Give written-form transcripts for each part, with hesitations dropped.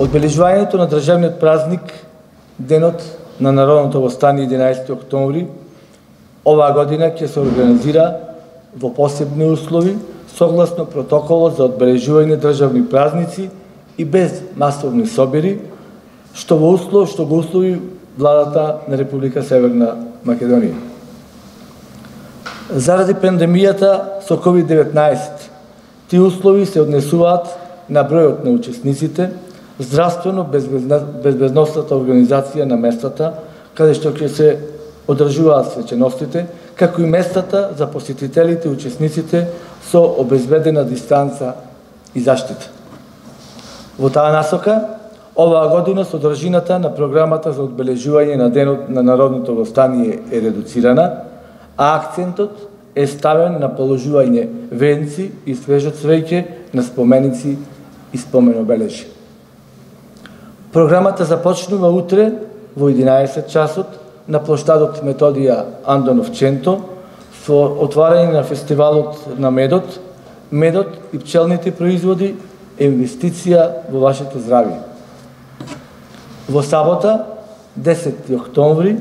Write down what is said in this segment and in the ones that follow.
Одбележувањето на државниот празник Денот на народното востание 11 октомври оваа година ќе се организира во посебни услови согласно протоколот за одбележување државни празници и без масовни собери, што го услови владата на Република Северна Македонија. Заради пандемијата со COVID-19, тие услови се однесуваат на бројот на учесниците, здравствено безбедносната организација на местата, каде што ќе се одржуваат свеченостите, како и местата за посетителите и учесниците со обезбедена дистанца и заштита. Во таа насока, оваа година содржината на програмата за одбележување на Денот на народното востание е редуцирана, а акцентот е ставен на положување венци и свежо цвеќе на споменици и споменобележи. Програмата започнува утре во 11 часот на плоштадот Методија Андонов Ченто со отварање на фестивалот на медот. Медот и пчелните производи е инвестиција во вашето здравје. Во сабота, 10 октомври,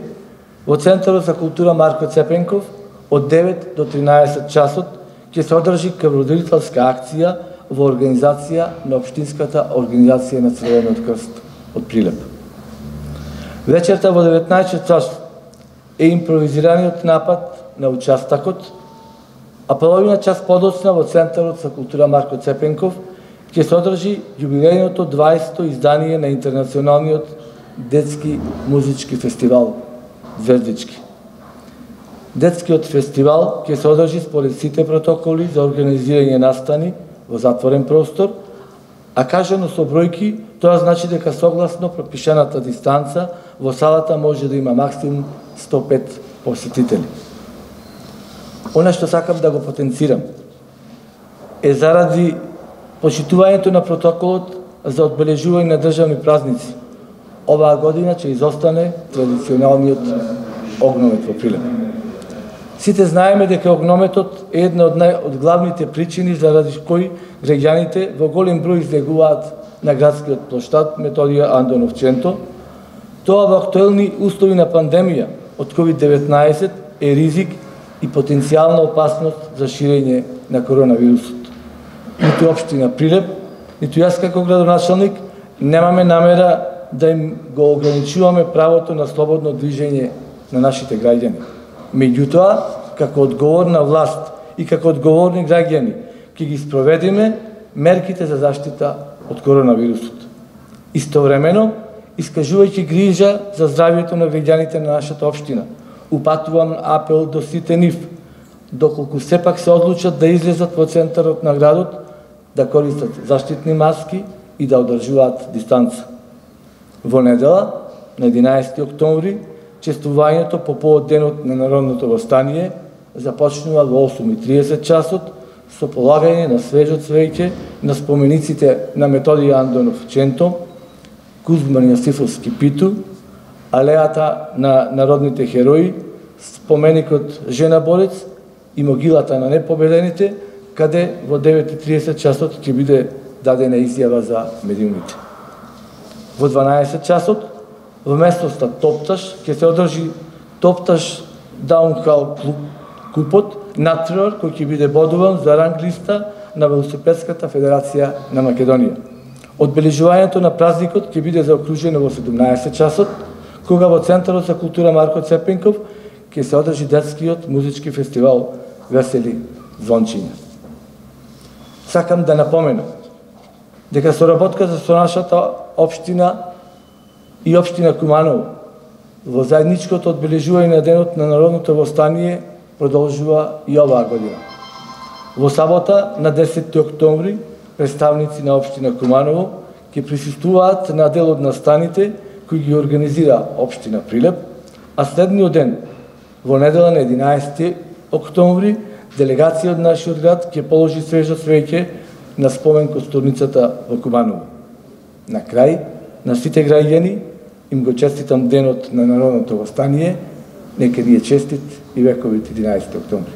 во Центарот за култура Марко Цепенков од 9 до 13 часот ќе се одржи крводарителска акција во организација на Општинската организација на Црвениот крст од Прилеп. Вечерта во 19 часот е импровизираниот напад на участакот, а половина час подоцна во Центарот за култура Марко Цепенков ќе се одржи јубилејното 20-то издание на интернационалниот детски музички фестивал Звездички. Детскиот фестивал ќе се одржи според сите протоколи за организирање настани во затворен простор, а кажано со бројки, тоа значи дека согласно пропишаната дистанца во салата може да има максимум 105 посетители. Она што сакам да го потенцирам е заради почитувањето на протоколот за одбележување на државни празници. Оваа година ќе изостане традиционалниот огномет во Прилеп. Сите знаеме дека огнометот е една од главните причини заради кои граѓаните во голем број излегуваат на градскиот плоштад Методија Андонов Ченто. Тоа во актуелни услови на пандемија од COVID-19 е ризик и потенцијална опасност за ширење на коронавирусот. Ниту општина Прилеп, ниту јас како градоначалник немаме намера да им го ограничуваме правото на слободно движење на нашите граѓани. Меѓутоа, како одговорна власт и како одговорни граѓани, ќе ги спроведиме мерките за заштита од коронавирусот. Истовремено, искажувајќи грижа за здравјето на граѓаните на нашата општина, упатувам апел до сите нив, доколку сепак се одлучат да излезат во центарот на градот, да користат заштитни маски и да одржуваат дистанца. Во недела, на 11 октомври, чествувањето по повод Денот на народното востание започнува во 8:30 часот со полагање на свежо цвеќе на спомениците на Методија Андонов Ченто, Кузман Јосифовски Питу, алејата на народните херои, споменикот Жена Борец и могилата на непобедените, каде во 9:30 часот ќе биде дадена изјава за медиумите. Во 12 часот во местноста Топташ ќе се одржи Топташ Даунхал купот натпревар кој ќе биде бодуван за ранг листа на Велосипедската федерација на Македонија. Одбележувањето на празникот ќе биде заокружено во 17 часот, кога во Центарот за култура Марко Цепенков ќе се одржи детскиот музички фестивал Весели звончиња. Сакам да напоменам дека соработката со нашата општина и општина Куманово во заедничкото одбележување на Денот на народното востание продолжува и оваа година. Во сабота, на 10 октомври, представници на општина Куманово ќе присуствуваат на дел од настаните кои ги организира општина Прилеп, а следниот ден, во недела на 11 октомври, делегација од нашиот град ќе положи свежо цвеќе на спомен костурницата во Куманово. На крај, на сите граѓани им го честитам Денот на народното востание, нека ни е честит и вековит 11 октомври.